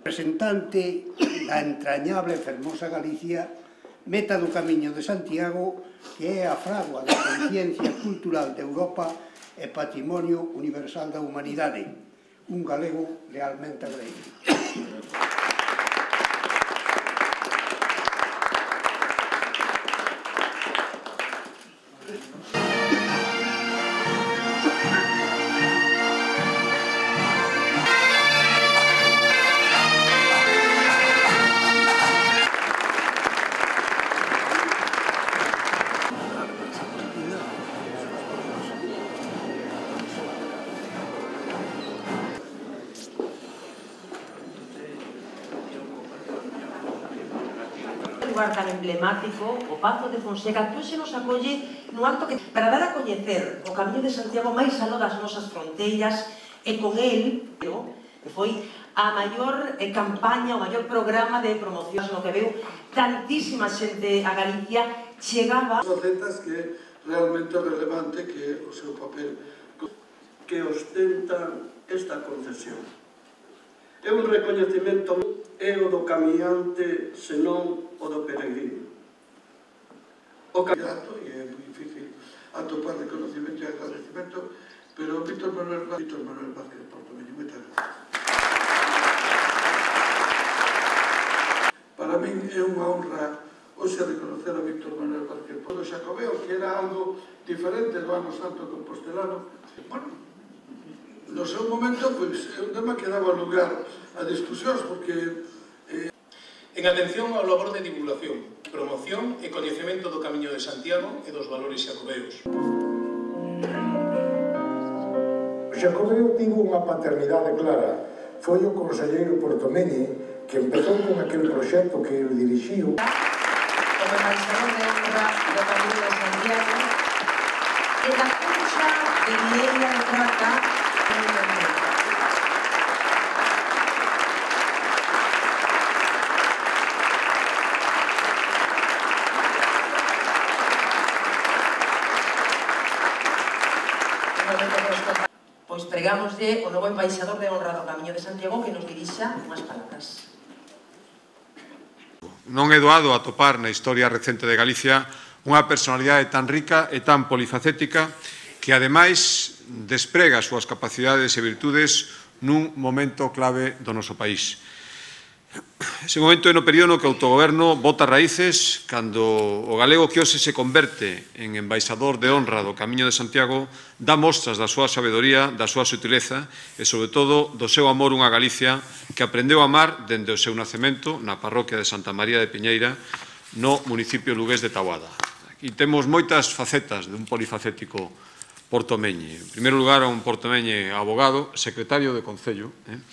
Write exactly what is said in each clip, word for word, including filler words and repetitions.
Representante da entrañable e fermosa Galicia, meta do Camiño de Santiago, que é a fragua da conciencia cultural de Europa e patrimonio universal da humanidade. Un galego realmente agradecido. Lugar tan emblemático, o Pazo de Fonseca, que hoxe nos acolle nun acto que para dar a coñecer o Camiño de Santiago máis aló das nosas fronteiras, e con el, que foi a maior campaña, o maior programa de promoción no que veu tantísima xente a Galicia, chegaba... facetas que é realmente relevante que o seu papel que ostenta esta concesión. É un recoñecemento é o do camiñante, senón o do peregrino. O camiñato, e é moi difícil atopar reconocimento e agradecimento, pero Víctor Manuel Víctor Manuel Vázquez Portomeño, moitas gracias. Para min é unha honra hoxe reconocer a Víctor Manuel Vázquez Portomeño Xacobeo, que era algo diferente do ano santo compostelano. Bueno, no seu momento, pois, é un tema que daba lugar a discusións, porque... Eh... En atención ao labor de divulgación, promoción e coñecemento do Camiño de Santiago e dos valores xacobeos. O Xacobeo tivo unha paternidade clara. Foi o conselleiro Portomeñe que empezou con aquel proxecto que ele dirixiu. Como embaixador de honra do Camiño de Santiago, e da cousa de Vieira de Trata en o momento. Pois pregámoslle o novo embaixador de honra do Camiño de Santiago que nos dirixa unhas palabras. Non é doado atopar na historia recente de Galicia unha personalidade tan rica e tan polifacética que, ademais, desprega as súas capacidades e virtudes nun momento clave do noso país. Ese momento é no período no que o autogoberno bota raíces, cando o galego que hoxe se converte en embaixador de honra do Camiño de Santiago dá mostras da súa sabedoría, da súa sutileza e, sobre todo, do seu amor unha Galicia que aprendeu a amar dende o seu nacemento na parroquia de Santa María de Piñeira, no municipio lugués de Taboada. Aquí temos moitas facetas dun polifacético portomeñe. En primeiro lugar, un portomeñe abogado, secretario de Concello, eh?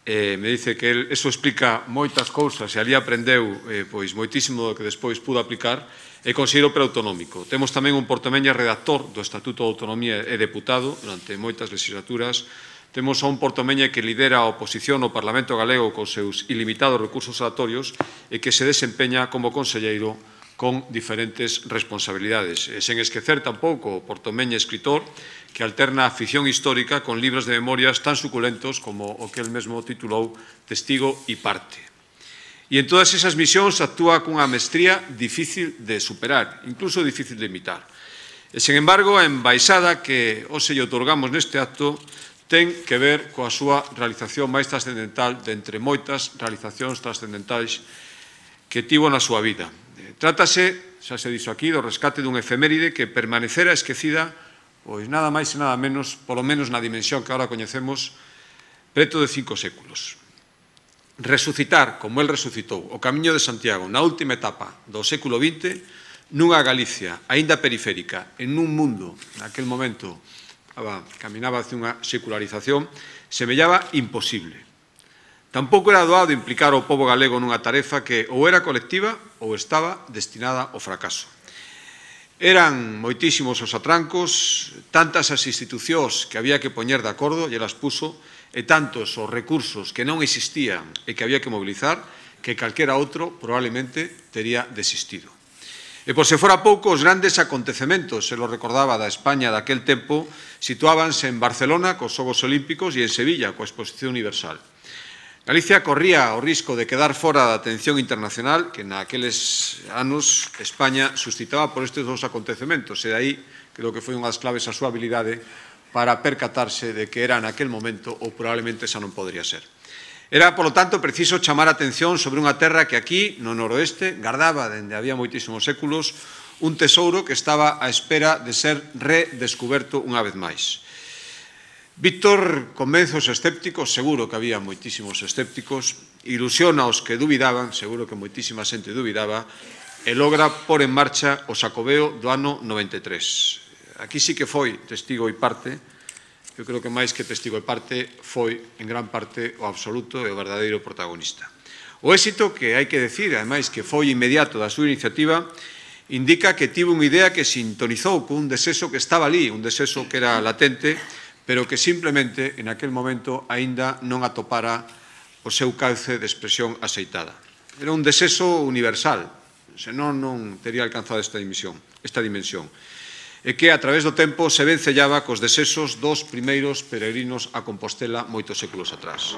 Eh, me dice que el, eso explica moitas cousas e ali aprendeu eh, pois moitísimo do que despois pudo aplicar e considero preautonómico. Temos tamén un portomeña redactor do Estatuto de Autonomía e deputado durante moitas legislaturas. Temos a un portomeña que lidera a oposición ao Parlamento galego con seus ilimitados recursos oratorios e que se desempeña como conselleiro con diferentes responsabilidades. E sen esquecer tampouco o portomeña escritor que alterna a ficción histórica con libros de memorias tan suculentos como o que el mesmo titulou Testigo e Parte. E en todas esas misións actúa cunha mestría difícil de superar, incluso difícil de imitar. E, sen embargo, a embaixada que hoxe lle otorgamos neste acto ten que ver coa súa realización máis trascendental de entre moitas realizacións trascendentais que tivo na súa vida. Trátase, xa se dixo aquí, do rescate dun efeméride que permanecera esquecida, pois nada máis e nada menos, polo menos na dimensión que agora coñecemos, preto de cinco séculos. Resucitar, como el resucitou, o Camiño de Santiago na última etapa do século vinte, nunha Galicia aínda periférica, en un mundo, naquel momento, caminaba hacia unha secularización, semellaba imposible. Tampouco era doado implicar ao pobo galego nunha tarefa que ou era colectiva ou estaba destinada ao fracaso. Eran moitísimos os atrancos, tantas as institucións que había que poñer de acordo, e elas puso, e tantos os recursos que non existían e que había que mobilizar, que calquera outro probablemente tería desistido. E por se fora pouco, os grandes acontecementos, se lo recordaba, da España daquel tempo, situábanse en Barcelona cos Xogos Olímpicos e en Sevilla coa Exposición Universal. Galicia corría o risco de quedar fora da atención internacional que naqueles anos España suscitaba por estes dous acontecementos, e aí creo que foi unha das claves a súa habilidade para percatarse de que era naquel momento ou probablemente xa non podría ser. Era, polo tanto, preciso chamar a atención sobre unha terra que aquí, no noroeste, gardaba, dende había moitísimos séculos, un tesouro que estaba á espera de ser redescuberto unha vez máis. Víctor convence os escépticos, seguro que había moitísimos escépticos, ilusiona os que dubidaban, seguro que moitísima xente dubidaba, e logra pôr en marcha o Xacobeo do ano noventa e tres. Aquí sí que foi testigo e parte. Eu creo que máis que testigo e parte foi, en gran parte, o absoluto e o verdadeiro protagonista. O éxito, que hai que decir, ademais, que foi inmediato da súa iniciativa, indica que tivo unha idea que sintonizou con un deseso que estaba ali, un deseso que era latente, pero que simplemente, en aquel momento, aínda non atopara o seu cauce de expresión aceitada. Era un deseso universal, senón non tería alcanzado esta dimensión. Esta dimensión. E que a través do tempo se vencellaba cos desesos dos primeiros peregrinos a Compostela moitos séculos atrás.